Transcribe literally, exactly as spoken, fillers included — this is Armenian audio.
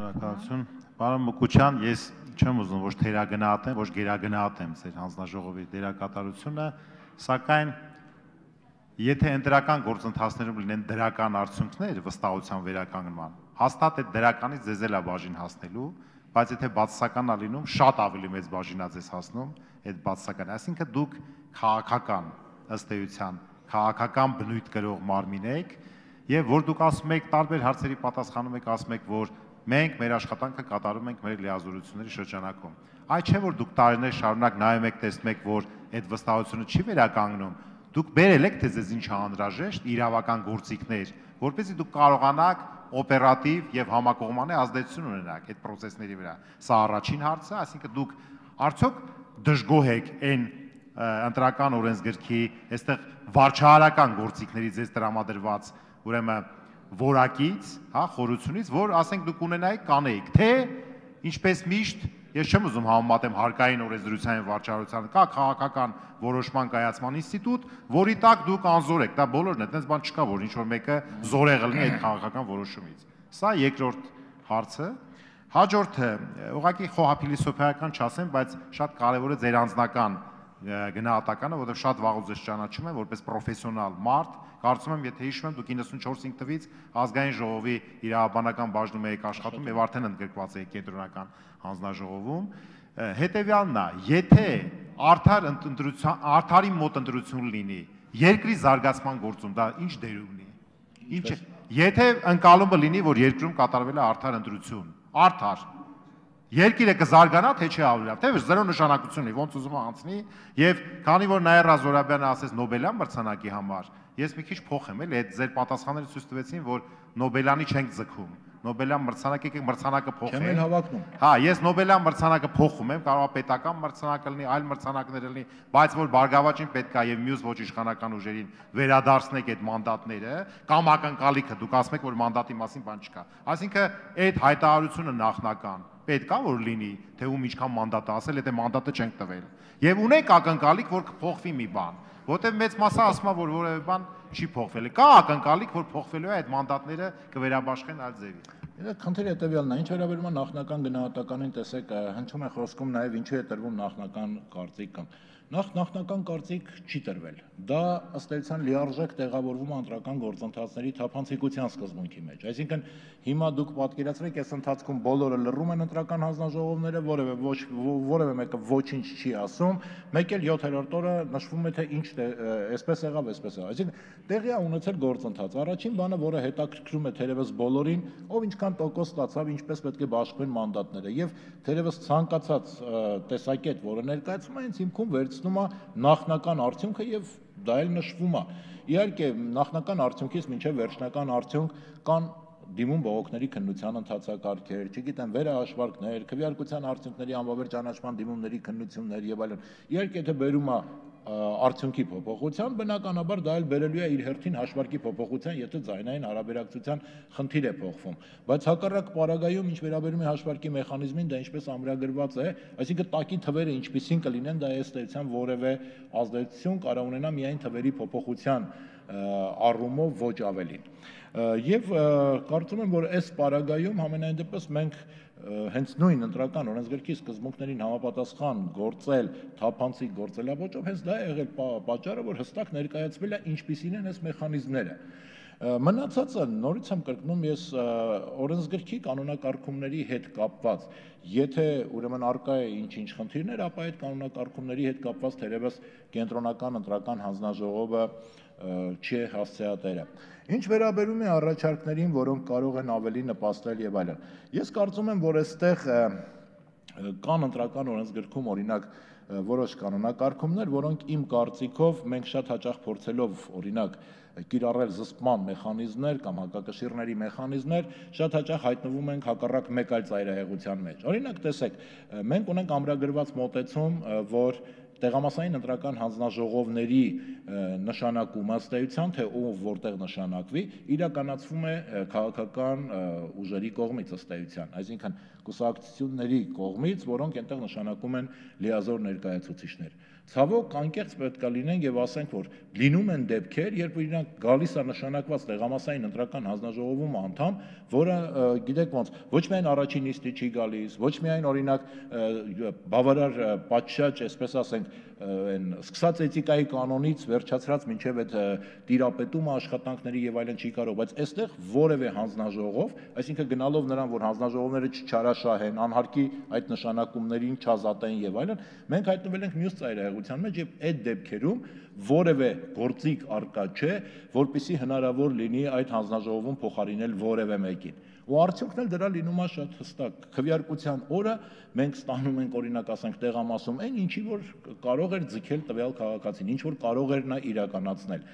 Շնորհակալություն։ Պարոն Մուկուչյան, ես չեմ ուզում ոչ թերագնահատեմ, ոչ գերագնահատեմ ձեր հանձնաժողովի դերակատարությունը, սակայն եթե ընտրական գործընթացներում լինեն դրական արդյունքներ վստահության վերականգնման, հաստատ այդ դրականից ձեզ էլ է բաժին հասնելու, բայց եթե բացասական է լինում, շատ ավելի մեծ բաժին է ձեզ հասնում այդ բացասականը, այսինքն դուք քաղաքական ըստ էության, քաղաքական բնույթ կրող մարմին եք, եւ որ դուք ասում եք տարբեր հարցերի պատասխանում եք, ասում եք, որ մենք մեր աշխատանքը կատարում ենք մեր լիազորությունների շրջանակում։ Այդ չէ որ դուք տարիներ շարունակ նայում եք, տեսնում եք, որ այդ վստահությունը չի վերականգնում, դուք բերել եք թե ձեզ ինչ անհրաժեշտ իրավական գործիքներ, որպեսզի դուք կարողանաք օպերատիվ եւ համակողմանի ազդեցություն ունենաք այդ process-ների վրա։ Սա առաջին հարցը, այսինքն դուք արդյոք դժգոհ եք այն ընտրական օրենսգրքի, այստեղ վարչահարական գործիքների ձեզ տրամադրված, ուրեմն որակից, հա, խորությունից, որ ասենք դուք ունենայիք, կանեիք, թե ինչպես միշտ, ես չեմ ուզում համեմատեմ հարկային օրենսդրության եւ վարչահարության, կա քաղաքական որոշման կայացման ինստիտուտ, որի տակ դուք անզոր եք, դա բոլորն է, այդպես բան չկա, որ ինչ որ մեկը զորեղ լինի այդ քաղաքական որոշումից։ Սա երկրորդ հարցը։ Հաջորդը, ուղղակի խոհափիլիսոփայական չասեմ, բայց շատ կարևոր է ձեր անձնական գնահատականը, որովհետև շատ վաղուց ես ճանաչում եմ որպես պրոֆեսիոնալ մարդ, կարծում եմ, եթե հիշում եմ, դուք իննսունչորս թվականից ազգային ժողովի իրավաբանական բաժնում եք աշխատում եւ արդեն ընդգրկված եք կենտրոնական հանձնաժողովում, հետեւյալն է, եթե արդար ընտրության, արդարի մոտ ընտրություն լինի, երկրի զարգացման գործում դա ինչ դեր ունի։ Ինչ է, եթե ընկալումը լինի, որ երկրում կատարվել է արդար ընտրություն, արդար երկիրը կզարգանա, թե չի ավելի լավ, թե զրո նշանակություն ունի, ոնց ուզում անցնի, եւ քանի որ Նաիրա Զորաբյանը ասեց Նոբելյան մրցանակի համար, ես մի քիչ փոխեմ, էլի այդ ձեր պատասխանները ցույց տվեցին, որ Նոբելյանի չենք ձգում, Նոբելյան մրցանակը եկեք մրցանակը փոխենք։ Չեմ էլ հավակնում։ Հա, ես Նոբելյան մրցանակը փոխում եմ, կարող է պետական մրցանակը լինի, այլ մրցանակներ լինի, բայց որ Բարգավաճին պետք է եւ մյուս ոչ իշխանական ուժերին վերադարձնեք այդ մանդատները, կամ ակնկալիքը, դուք ասում եք, որ մանդատի մասին բան չկա։ Այսինքն այդ հայտարարությունը նախնական պետք է որ լինի, թե ում ինչքան մանդատ է ասել, եթե մանդատը չենք տվել։ Եվ ունենք ակնկալիք, որ կփոխվի մի բան, որտեղ մեծ մասը ասում է, որ որևէ բան չի փոխվել։ Կա ակնկալիք, որ փոխվելու է այդ մանդատները կվերաբաշխեն այլ ձևի։ Դա խնդիրը հետևյալն է, ինչ վերաբերում է նախնական գնահատականին, տեսեք, հնչում է խոսքում նաև ինչու է տրվում նախնական կարծիքը։ Նախ նախնական կարծիք չի տրվել։ Դա ըստ էության լիարժեք տեղավորվում է ընտրական գործընթացների թափանցիկության սկզբունքի մեջ։ Այսինքն հիմա դուք պատկերացրեք, այս ընթացքում բոլորը լռում են ընտրական հանձնաժողովները, որևէ ոչ որևէ մեկը ոչինչ չի ասում, մեկ էլ յոթերորդ օրը նշվում է թե ինչ այսպես եղավ, այսպես եղավ։ Այսինքն տեղի է ունեցել գործընթաց։ Առաջին բանը, որը հետաքրքրում է թերևս բոլորին, ով ինչքան տոկոս ստացավ, ինչպես պետք է բաշխվեն մանդատները, եւ թերևս ցանկացած տեսակետ, որը ներկայացում է, հենց հիմքում վերցնում է նախնական արդյունքը եւ դա էլ նշվում է։ Իհարկե, նախնական արդյունքից մինչև վերջնական արդյունք կան դիմում բողոքների քննության ընթացակարգեր, չգիտեմ, վերահաշվարկներ, քվեարկության արդյունքների անվավեր ճանաչման դիմումների քննություններ եւ այլն։ Իհարկե, եթե բերում է արդյունքի փոփոխության, բնականաբար դա էլ բերելու է իր հերթին հաշվարկի փոփոխության, եթե ձայնային հարաբերակցության խնդիր է փոխվում։ Բայց հակառակ պարագայում, ինչ վերաբերում է հաշվարկի մեխանիզմին, դա ինչպես ամրագրված է, այսինքն տակի թվերը ինչպիսին կլինեն, դա ըստ էության որևէ ազդեցություն կարող ունենա միայն թվերի փոփոխության առումով, ոչ ավելին։ Եվ կարծում եմ, որ այս պարագայում համենայն դեպս մենք հենց նույն ընտրական օրենսգրքի սկզբունքներին համապատասխան գործել, թափանցիկ գործելավոճով, հենց դա է եղել պատճառը, որ հստակ ներկայացվել է ինչպիսին են այս մեխանիզմները։ Մնացածը նորից եմ կրկնում, ես օրենսգրքի կանոնակարգումների հետ կապված, եթե ուրեմն արկա է ինչ-ինչ խնդիրներ, ապա այդ կանոնակարգումների հետ կապված թերևս կենտրոնական ընտրական հանձնաժողովը չի հասցեատերը։ Ինչ վերաբերում է առաջարկներին, որոնք կարող են ավելի նպաստել եւ այլն։ Ես կարծում եմ, որ այստեղ կան ընտրական օրենսգրքում օրինակ որոշ կանոնակարգումներ, որոնք իմ կարծիքով մենք շատ հաճախ փորձելով օրինակ կիրառել զսպման մեխանիզմներ կամ հակակշիռների մեխանիզմներ, շատ հաճախ հայտնվում ենք հակառակ մեկ այլ ծայրահեղության մեջ։ Օրինակ, տեսեք, մենք ունենք ամրագրված մոտեցում, որ տեղամասային ընտրական հանձնաժողովների նշանակումը ըստ էության, թե ով որտեղ նշանակվի, իրականացվում է քաղաքական ուժերի կողմից ըստ էության, այսինքն կուսակցությունների կողմից, որոնք այնտեղ նշանակում են լիազոր ներկայացուցիչներ։ Ցավոք անկեղծ պետք է լինենք եւ ասենք, որ լինում են դեպքեր, երբ իրանք գալիս է նշանակված տեղամասային ընտրական հանձնաժողովում անդամ, որը գիտեք ոնց, ոչ միայն առաջին նիստի չի գալիս, ոչ միայն օրինակ բավարար պատշաճ, այսպես ասենք, այն սկսած էթիկայի կանոնից վերջացրած մինչև այդ տիրապետումը աշխատանքների եւ այլն չի կարող, բայց այստեղ որևէ հանձնաժողով, այսինքն գնալով նրան, որ հանձնաժողովները չչարաշահեն, անհարկի այդ նշանակումներին չազատեն եւ այլն, մենք հայտնվել ենք մյուս ծայրահեղության մեջ եւ այդ դեպքերում որևէ գործիք արկա չէ, որպեսզի հնարավոր լինի այդ հանձնաժողովում փոխարինել որևէ մեկին։ Ու արդյունքն էլ դրա լինում է շատ հստակ։ Քվեարկության օրը մենք ստանում ենք օրինակ ասենք տեղամասում այն ինչի որ կարող էր ձգել տվյալ քաղաքացին, ինչ որ կարող էր նա իրականացնել։